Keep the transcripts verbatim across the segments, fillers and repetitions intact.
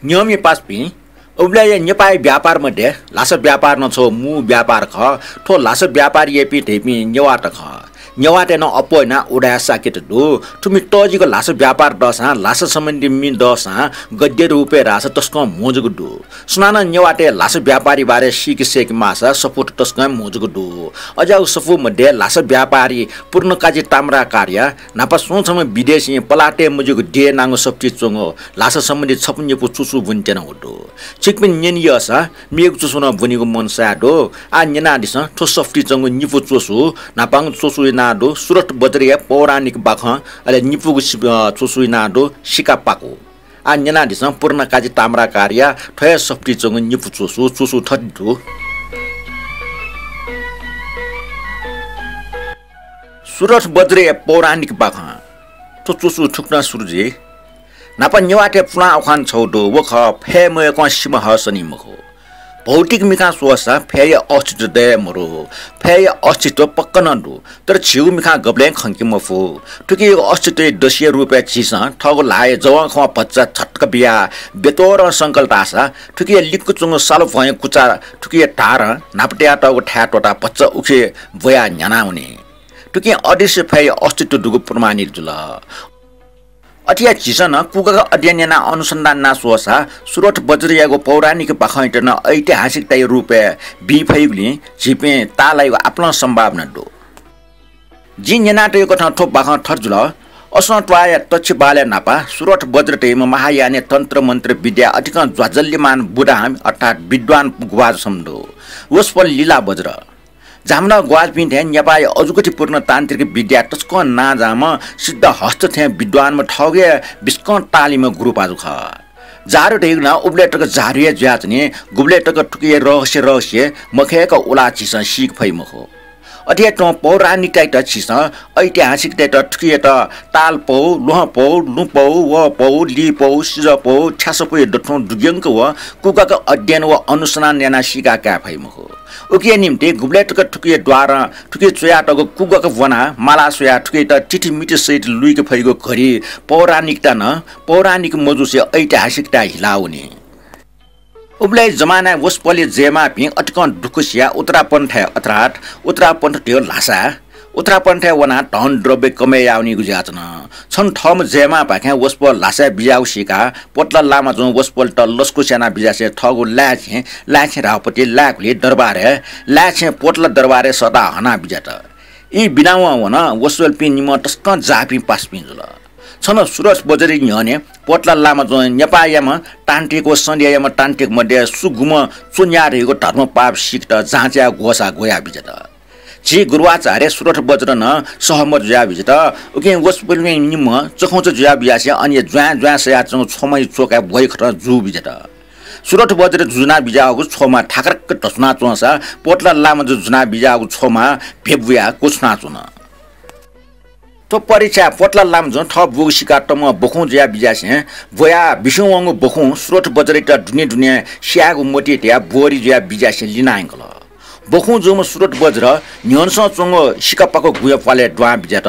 न्यंम्ह पासापिं, उबलय् नेपाःया व्यापार मध्ये ल्हासा व्यापार नं छगू मू व्यापार खः। थ्व ल्हासा व्यापार याइपिं धइपिं नेवाःत खः। नेवाःतय् नं अप्वः यानाः उदाय् साकेत दु। थुमि तःजिक ल्हासा व्यापार दःसां, ल्हासा सम्बन्धी मि दःसां गद्य रूपय् धाःसा तसकं म्हो जक दु। सुनानं नेवाःतय् ल्हासा व्यापारया बारे सीके सय्‌के माःसा सफूत तसकं म्हो जक दु। अज्याःगु सफू मध्ये ल्हासा व्यापारी पूर्णकाजी ताम्राकारया न्हापा स्वंछम्ह विदेशीं पलाः तये मज्यूगु देय् नांगु सफुतिइ च्वंगु ल्हासा सम्बन्धी छपु निपु च्वसु ब्वने त्यनागु दु। छिकपिं न्यने यःसा मेगु च्वसु नं ब्वनेगु मन साय् दु। आः न्यनादिसँ, थ्व सफुतिइ च्वंगु निपु च्वसु, न्हापांगु च्वसु यानाः दु सुरथ बज्रया पौराणिक बाखं, अले निपूगु सि-, अ, च्वसु यानाः दु सिकापाकु। आः न्यनादिसँ पूर्णकाजी ताम्राकारया थ्व हे सफुतिइ च्वंगु निपु च्वसु, च्वसु थथे दु। सुरथ बज्रया पौराणिक बाखं। थ्व च्वसु थुकथं सुरु जुइ। न्हापा नेवाःतय् पुलां उखान छगू दु, व खः, फय् मयय्कं सिमा हः सनी मखु। भौतिक मिखां स्वःसा फय्‌या अस्तित्व दये मरु। फय्‌या अस्तित्व पक्का नं दु, तर झीगु मिखां गबलें खंके मफु। थुकिया अस्तित्वया दसिया रूपय् झीसं थःगु ल्हाःया जवंखवं भचा झट्क बियाः ब्यतोरं संकल धाःसा थुकिया लिक्क च्वंगु सालु भ्वंया कुचा थुकिया धारं न्हापा तयातःगु थाय् त्वःताः भचा उखे ब्वयाः न्ह्यानावनी। थुकिं अदृश्य फय्‌या अस्तित्व दुगु प्रमाणित जुल। अथे हे झीसं नं कुगाक अध्ययन यानाः अनुसन्धान यानाः स्वःसा सुरथ बज्रयागु पौराणिक बाखंयात नं ऐतिहासिकताया रूपय् बी फइगुलिं झीपिं ताःलाइगु आपालं सम्भावना दु। जिं न्यनातयागु कथं थ्व बाखं थथे जुल। असंत्वाःया तक्षबालय् न्हापा सुरथ बज्र धइम्ह महायानया तन्त्र मन्त्र विद्या अतिकं ज्वाजल्यमान बुधां अर्थात् विद्वान ग्वाहालि छम्ह दु। वसपोल लीला बज्र। झामुना ग्वाहालिपिं थें नेपाःया अजूगुथिपूर्ण तान्त्रिक विद्या तसकं नांजाःम्ह सिद्धहस्त थें विद्वानम्ह थःगु हे बिस्कं ताःलिम्ह गुरुपाजु खः। जादु धइगु नं उबलय् तक जादु हे जुयाच्वनी, गुबलय् तक थुकिया रहस्य रहस्य मखय्क उलाः झीसं सीके फइ मखु। अथे हे थ्व पौराणिकतायात झीसं ऐतिहासिकतायात थुकियात तालपौ, ल्वहंपौ, लुँपौ, वःपौ, लीपौ, सिजःपौ, थ्यासःपौया दथुं दुग्यंक व कुगाक अध्ययन व अनुसन्धान यानाः सीकाः काये फइ मखु। उकिया निंतिं गुबलय् तक थुकिया द्वारं थुकिया च्वयातःगु कुगाक ब्वनाः माला स्वयाः थुकियात तिथिमिति सहित लुइके फइगु घडी पौराणिकता नं पौराणिक मजुसे ऐतिहासिकताय् हिलावनी। उबलय् जमानाय् वसपोलया जयमांपिं अतिकं दुःख सियाः उत्तरापन्थय् अर्थात् उत्तरापन्थ धयो ल्हासाय् उत्तरापन्थय् वनाः धन द्रव्य कमय् यावनीगु जुयाच्वन। छन्हु थःम्ह जयमांपाखें वसपोल ल्हासाय् बिज्याःगु सीकाः पोतला लामाजुं वसपोलयात लसकुस यानाः बिज्यासें थःगु लाय्छें, लाय्छें धाःगु पति लाय्कुलि दरबारय्, लाय्छें पोतला दरबारय् सःताः हनाः बिज्यात। ई बिनावं वन वसपोलपिं निम्हं तसकं जाःपिं पासापिं जुल। छन्हु सुरथ बज्रया न्ह्यःने पोतला लामाजुं नेपाःयाम्ह तान्त्रिक व सन्ध्यायाम्ह तान्त्रिक मध्ये सुगुम्ह च्वन्ह्याः धइगु धर्मपाप सीकेत जाँच यायेगु ग्वसाः ग्वयाः बिज्यात। झी गुरुआचार्य सुरथ बज्र नं सहमत जुयाः बिज्यात। उकिं वसपोलपिं निम्हं चखुंचा जुयाः बिज्यासें अन हे ज्वाँय् ज्वाँय् सयाच्वंगु छ्वमाया च्वकाय् ब्वइखतं जू बिज्यात। सुरथ बज्र जुजुना बिज्याःगु छ्वमा थाकरक धसुना च्वंसा पोतला लामाजुं जुना बिज्याःगु छ्वमा भेबुयाः क्वछुना च्वन। थ्व परीक्षाय् पोतला लामाजुं थः ब्वगु सीकाः तमं बखुं जुयाः बिज्यासें ब्वयाः बिस्युं वंगु बखुं सुरथ बज्रयात दुने दुने स्यायेगु मतिइ तयाः ब्वरि जुयाः बिज्यासें लिना यंकल। बखुं जूम्ह सुरथ बज्र न्ह्यःनसं च्वंगु सिकापाकु गुँया प्वालय् दुहां बिज्यात।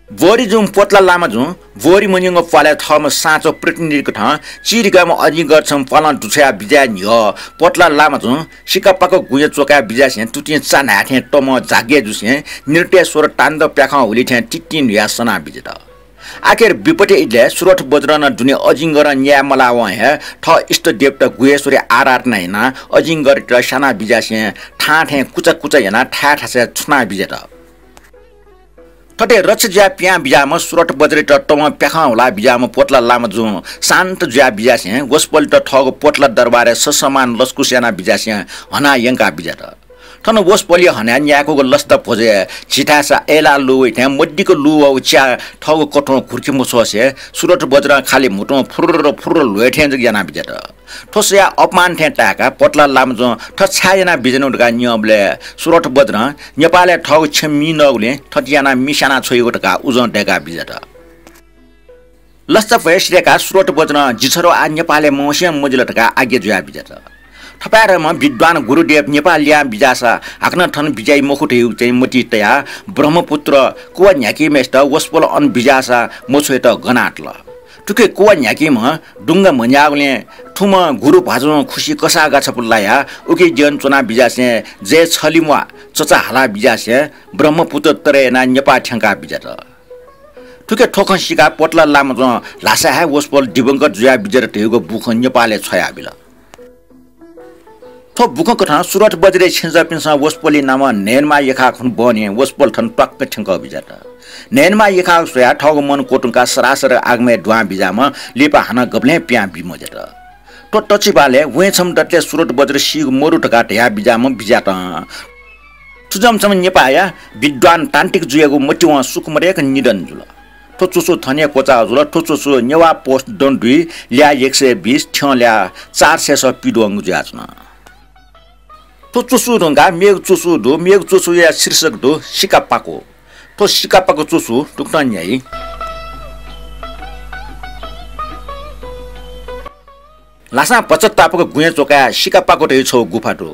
ब्वरि जूम्ह पोतला लामाजुं ब्वरि मन्यंगु प्वालय् थःम्ह साँचो प्रतिनिधि कथं चिरिगाम्ह अजिंगर छम्ह प्वालं दुछ्वयाः बिज्याये न्ह्यः पोतला लामाजुं सिकापाकु गुँया च्वकाय् बिज्यासें तुतिं चा न्हाय् थें तमं जाग्या जुसें नृत्येश्वर ताण्डव प्याखं हुलि थें तितिं न्हुयाः सना बिज्यात। आखिर विपत्ति इलय् सुरथ बज्रं दुने अजिंगरं न्याये मलावं हे थः इष्टदेवता गुहेश्वरया आराधना यानाः अजिंगरयात स्याना बिज्यासें थां थें कुचा कुचा यानाः थाय् थासय् छुना बिज्यात। थथे रक्ष जुयाः पिहां बिज्याःम्ह सुरथ बज्रयात तमं प्याखं हुलाः बिज्याःम्ह पोतला लामाजुं शान्त जुयाः बिज्यासें वसपोलयात थःगु पोतला दरबारय् ससम्मान लसकुस यानाः बिज्यासें हनाः यंकाः बिज्यात। थन वसपोलया हनाय् न्याय्कूगु लसता भ्वजय् झीथाय्‌सा अय्‌लाः लू वइ थें मदिक्क लू वःगु च्या थःगु कथं घुर्के मछ्वसे सुरथ बज्रं खालि म्हुतुं फुर्र फुर्र ल्ह्वये थें जक यानाः बिज्यात। थ्व स्वयाः अपमान थें ताय्‌काः पोतला लामाजुं थथे छाय् यानाः बिज्यानागु धकाः न्यंबलय् सुरथ बज्रं नेपालय् थःगु छेँ मि नःगुलिं थथे यानाः मि स्याना छ्वइगु धकाः उजं दय्‌काः बिज्यात। लसता भ्वय् सिधय्‌काः सुरथ बज्रं जि छरौ आः नेपालय् मवसें मजिल धकाः आज्ञा जुयाः बिज्यात। थपाय्‌धंम्ह विद्वान गुरुदेव नेपाल लिहां बिज्याःसा हाकनं थन बिज्याइ मखु धइगु चाहिँ मतिइ तयाः ब्रह्मपुत्र कुवा न्ह्याकीम्हय्‌सित वसपोल अन बिज्याःसा मछ्वयेत गनातल। थुके कुवा न्ह्याकीम्ह दुंगा म्हन्याःगुलिं थुम्ह गुरु भाजुं खुसि कसाः गाछापु लायाः उके द्यन च्वना बिज्यासें जय छलिम्वा चचा हाला बिज्यासें ब्रह्मपुत्र तरे यानाः नेपाः थ्यंका बिज्यात। थुके थ्व खँ सीकाः पोतला लामाजुं ल्हासा हे वसपोल दिवंगत जुया बिज्यात धयागु बुखँ नेपालय् छ्वयाबिल। थ्व बुखँ कथं सुरत बज्रय् छेँजःपिन्सं वसपोलया नामं न्हय्‌नमा यखाः खन बहनी वसपोल थन त्वाक्क थ्यंकः बिज्यात। न्हय्‌नमा यखाः स्वयाः थःगु मन क्वतुंकाः सरासर आगमय् दुहां बिज्याःम्ह लिपा हानं गबलें पिहां बी मज्यात। थ्व तछिबालय् वँय् छम्ह दतले सुरत बज्र सीगु मरु धकाः धया बिज्याःम्ह बिज्यातं। थुजम छम्ह नेपाःया विद्वान तान्त्रिक जुयागु मतिवं सुकुमरेक निधन जुल। थ्व च्वसु थन हे क्वचाः जुल। थ्व च्वसु नेवाः पोस्ट दँ दुई ल्याः एक सय बीस थ्यं ल्याः चार सय सः पिदुवंगु जुयाच्वन। थ्व च्वसु धुंकाः मेगु च्वसु दु। मेगु च्वसुया शीर्षक दु सिकापाको। थ्व सिकापाको च्वसु तुकथं न्ह्याइ। ल्हासां भचा तापाक गुँय् च्वकाय् सिकापाको धइगु छगू गुफा दु।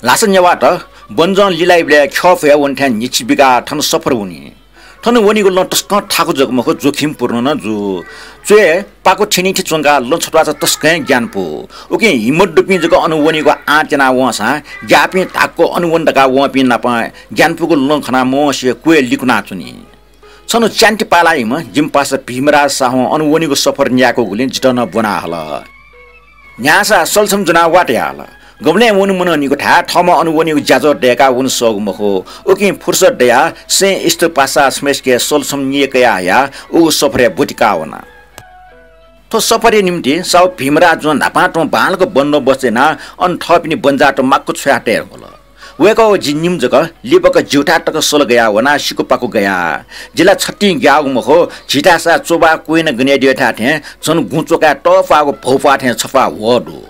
ल्हासा नेवाःत बन्जं लिलाइबलय् ख्यः फुया वने थें न्हिच्छि बिकाः थन सफर वनी। थन वनीगु लँ तसकं थाकु जक मखु, जोखिमपूर्ण नं जू। च्वय् पाको थ्यनीथि च्वंकाः लँ छत्वाःचा तसकं हे ग्यानापु। उकिं हिम्मत दुपिं जक अन वनीगु आँट याना वंसां ग्याःपिं धाक्व अन वने धकाः वंपिं नाप ग्यानापुगु लँ खनाः मवंसे क्वय् लिकुनाच्वनी। छन्हु च्यान्ति पालाइम्ह जिमि पासा भीमराज साहुं अन वनीगु सफर न्यायेकूगुलिं जितः नं ब्वना हल। न्ह्याःसा सलछम ज्वनाः वा धया हल। गबलें वने मनंनिगु थाय् थःम्हं अन वनीगु ज्याझ्वः दय्काः वने सःगु मखु। उकिं फुर्सद दयाः सें इष्ट पासा छम्हय्‌सिके सलछम निय् कयाः हयाः उगु सफरय् ब्वति काः वना। थ्व सफरया निंतिं साहु भीमराजुं न्हापां तुं बांलाक बन्दोबस्त यानाः अन थःपिनि बन्जाःत माक्व छ्वया तये धुंकल। वय्‌कः व जि निम्ह जक लिपक ज्यूथाय् तक सल गयाः वनाः सिकुपाकु गया। जि ला छतिं ग्याःगु मखु, झीथाय्‌सा च्वबा क्वय्‌न गनेद्यः थाय् थें झन गुँ च्वकाय् तःपाःगु भौपाः थें छफाः ह्वः दु।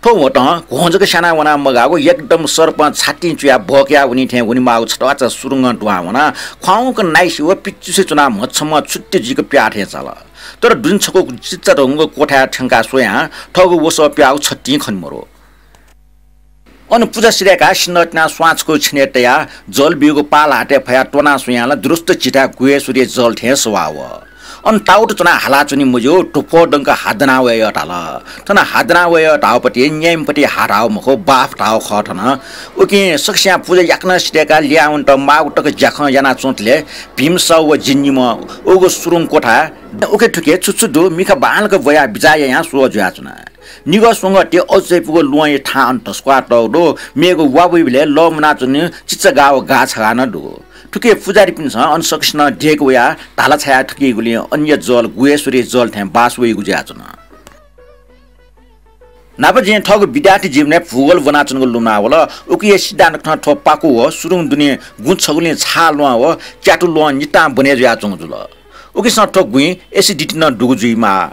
थ्व ह्वतं घ्वं जक स्याना वना मगाःगु एकदम सर्पं छातिं चुयाः बहकया वनी थें वनेमाःगु छत्वाःचा सुरुङं दुहां वनाः ख्वाउँक नाइसे व पिचुसे च्वनाः म्हछम्ह छुट्टि जुइक प्याः थें चाल। तर दुने छकू चिच्चा धंगु क्वथाय् थ्यंकाः स्वयां थःगु वसः प्याःगु छतिं खने मरु। अन पुजा सिधय्काः सिन्हः तिनाः स्वां छकू छेनय् तयाः जल बीगु पाः ल्हातय् फयाः त्वनाः स्वयां ला दुरुस्त झीथाय् गुह्येश्वरी जल थें सवाः वः। अन ताउत च्वनाः हालाच्वनी मज्यू, धुप्वः दंक हात दना वये यः धाल। थन हात दना वये यः धाःगुपति न्याय्म्हपति हाः धाःगु मखु, बाफ धाःगु खः थन। उकिं सकसियां पुजा याकनं सिधय्काः लिहां वनेत माःगु तक ज्याखँ यानाच्वंतले भीम साहु व जि निम्ह उगु सुरुङ क्वथाय् उखे थुखे छु छु दु मिखा बांलाक ब्वयाः बिचाः यायां स्वः जुयाच्वना। निगः स्वंगः ति अजू चायापुगु ल्वहंया थां अन धस्वाः तःगु दु। मेगु वा वइबलय् लः मुनाच्वनीगु चिचागाः व गाः छगाः नं दु। थुके पुजारीपिन्सं अन सकसिनं देय्के वयाः धाला छाया थकीगुलिं अनया जल गुह्येश्वरी जल थें बास वइगु जुयाच्वन। न्हापा जिं थःगु विद्यार्थी जीवनय् भूगोल ब्वनाच्वनेगु लुमना वल। उकिया सिद्धान्त कथं थ्व पाकु व सुरुङ दुने गुँ छगुलिं छाः ल्वहं व क्यातु ल्वहं नितां बने जुयाच्वंगु जुल। उकिसं थ्व गुँइ acidity नं दुगु जुइमाः।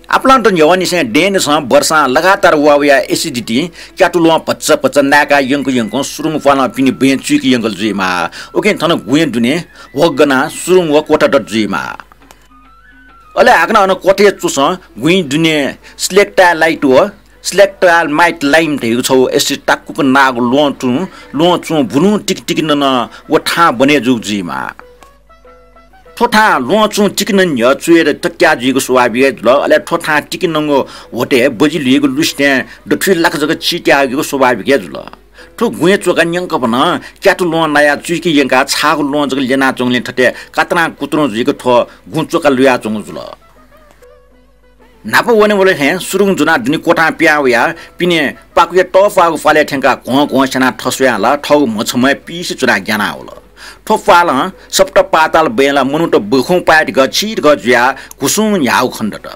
आपालं त न्ह्यवंनिसें दँय्‌निसें वर्षां लगातार वा वयाः acidity क्यातु ल्वहं भचा भचा नाय्‌का यंक यंकं सुरुङ प्वालं पिने बँय् चुइके यंकल जुइमाः। उकिं थन गुँया दुने ह्वः गनाः सुरुङ व क्वथा दत जुइमाः। अले हाकनं अन क्वथाया च्वसं गुँया दुने stalactite व stalagmite lime धइगु छगू acid ताकुक नाःगु ल्वहं चुं, ल्वहं चुं बुलुं तिकि तिकि नन व थां बने जूगु जुइमाः। थ्व थां ल्वहं चुं तिकि नने न्ह्यः चुय् तत्या जुइगु स्वाभाविक हे जुल। अले थ्व थां तिकि नंगु ह्वतय् बजि ल्हुइगु लुसिथें दथुइ लाक जक चित्याःगु स्वाभाविक हे जुल। थ्व गुँया च्वका न्यंकपनं क्यातु ल्वहं नायाः चुइके यंकाः छाःगु ल्वहं जक ल्यनाच्वंगुलिं थथे कातरां कुतुरुं जुइक थ्व गुँ च्वका लुयाच्वंगु जुल। न्हापा वनेबलय् थें सुरुङ ज्वनाः दुने क्वथां पिहां वयाः पिने पाकुया तःपाःगु पालय् थ्यंकाः घ्वं घ्वं स्यानाः थस्वयां ला थःगु म्हछम्हय् पिइसे च्वनाः ग्यानाः वल। थ्व प्वालं सप्त पाताल बँय् ला मनूत बखुं पाय् धकाः छि धकाः जुयाः घुसुं न्ह्याःगु खनेदत।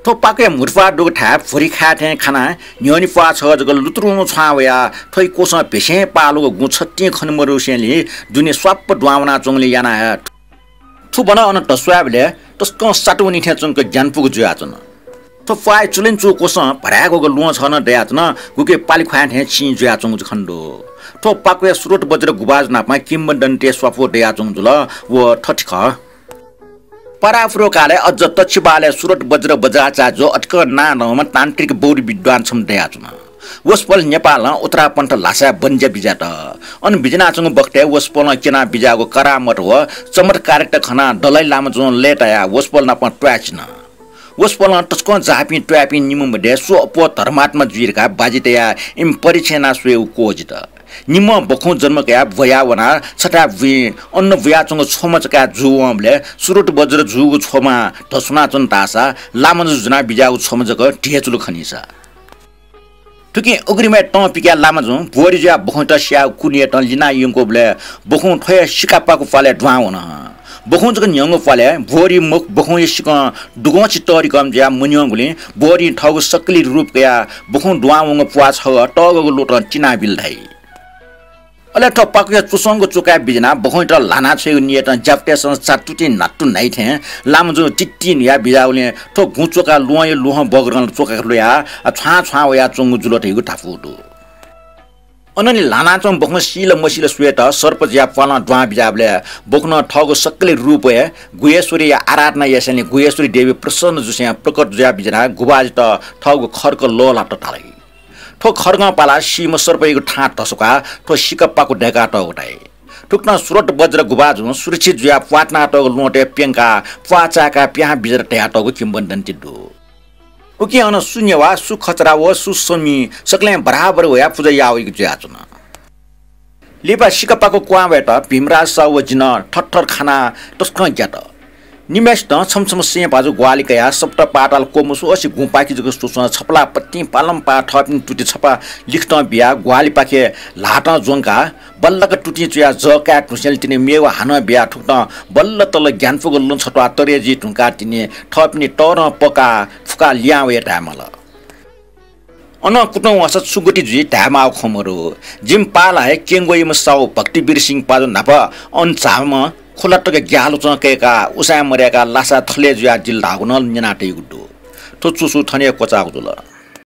थ्व पाकुया म्हुतुप्वाः दुगु थाय् भ्वरि खाये थें खानाः न्ह्यःने प्वाः छगः जक लुतुरुं छ्वां वयाः थ्वया क्वसं भेसें पालुगु गुँ छतिं खने मरुसेंलि दुने स्वाप्प दुहां वनाच्वंगुलिं यानाः हे थुबनं अन धस्वायेबलय् तसकं सातुवनी थें च्वंक ग्यानापुगु जुयाच्वन। थ्व प्वाःया चुलंनिचुगु क्वसं भराय्‌ग्वःगु ल्वहं छगः नं दयाच्वन, गुके पालि ख्वाँय् थें चिं जुयाच्वंगु खनेदु। थ्व पाकुया स्रोत बज्र गुभाजु नाप किंवदन्तीतय् स्वापू दयाच्वंगु जुल। व थथे खः। परापूर्व कालय् अझ तछिबालय् स्रोत बज्र बज्राचार्य अतिकं नांदंम्ह तान्त्रिक बौद्ध विद्वान छम्ह दयाच्वन। वसपोल नेपालं उत्तरापन्थ ल्हासाय् बन्ज्या बिज्यात। अन बिज्यानाच्वंगु बखतय् वसपोलं क्यना बिज्याःगु करामत व चमत्कारिकता खनाः दलाइ लामाजुं लय्तायाः वसपोल नाप त्वाःचिन। वसपोलं तसकं जाःपिं त्वाःपिं निम्ह मध्ये सु अप्वः धर्मात्मा जुइ धकाः बाजी तयाः इमि परीक्षा याना स्वयेगु क्वःजित। निम्हं बखुं जन्म कयाः ब्वया वनाः छथाय् बुँइ अन्न बुयाच्वंगु छ्वमा चकाय् जू वंबलय् सुरत बज्र जूगु छ्वमा धस्वनाच्वन धाःसा लामाजु ज्वना बिज्याःगु छ्वमा जक ध्येचुलु खनीसा। थुकिं अग्रिमय् तं पिकाय् लामाजुं ब्वहरि जुयाः बखुंयात स्याःगु कुन्हुयात लिना यंकूबलय् बखुं थ्वया सिकापाकु प्वालय् दुहां वन। बखुं जक न्ह्यंगु प्वालय् ब्वहरि मुख बखुंया सिकं दुगंछि तःधिकःम्ह जुयाः मन्यंगुलिं ब्वहरिं थःगु सक्कलि रूप कयाः बखुं दुहां वंगु प्वाः छगः तःगःगु लोतं तिनाबिल धाइ। अले थ्व पाकुया चुस्वंगु च्वकाय् बिज्यानाः बखुंयात ल्हाना छ्वयेगु नियतं ज्यापुतय्सं चातुतिं न्हातु न्हाइ थें लामाजुं तित्तिं न्हुया बिज्याःगुलिं थ्व गुँ च्वका ल्वहंया लुहं बग्रं च्वका ल्वयाः छ्वां छ्वां वयाच्वंगु जुल धइगु धापू दु। अनंलि ल्हानाच्वंम्ह बखुं सील मसील स्वयेत सर्प जुयाः प्वालं दुहां बिज्याःबलय् बखुनं थःगु सक्कलि रूपय् गुह्येश्वरीया आराधना यासेंलि गुह्येश्वरी देवी प्रसन्न जुसें प्रकट जुयाः बिज्यानाः गुभाजुयात थःगु खड्ग लःल्हात धाल। थ्व खड्गं पालाः सीम्ह सर्पयागु थां धस्वाकाः थ्व सिकापाकु दय्कातःगु धाइ। थुकथं सुरत बज्र गुभाजुं सुरक्षित जुयाः प्वाः तिनातःगु ल्वहंतय् प्यंकाः प्वाः चाय्काः पिहां बिज्यात धयातःगु किंवदन्ती दु। उकिं अन सु नेवाः, सु खचरा व सु स्वमि सकलें बराबर वयाः पुजा याः वइगु जुयाच्वन। लिपा सिकापाकु क्वहां वयेत भीमराज साहु व जिं थरथर खानाः तसकं ग्यात। निम्हय्सितं छम्ह छम्ह सें भाजु ग्वाहालि कयाः सप्त पाताल क्वमसु असे गुँपाखे जक स्वस्वं छपलाः पतिं पालंपाः थःपिनि तुति छपा लिखतं बियाः ग्वाहालिपाखे ल्हातं ज्वंकाः बल्लाक तुतिं चुयाः जः काये धुंसेंलि तिनि मेवा हानं बियाः थुकथं बल्ल तल ग्यानापुगु लँ छत्वाः तरे जुइ धुंकाः तिनि थःपिनि तःधं पकाः फुकाः लिहां वये धायेमाल। अनं कुतुं वाःसा छु गति जुइ धायेमाःगु खँ मदु। जिमि पालाया हे क्यंग्वःयाम्ह साहु भक्तिवीर सिंह पाजु न्हापा अन झाःम्ह खुला तक ग्याःलुचं कय्काः उसाँय् मदय्काः लासाय् थलय् जुयादिल धाःगु नं न्यनातयागु दु। थ्व चुसु थन हे क्वचाःगु जुल।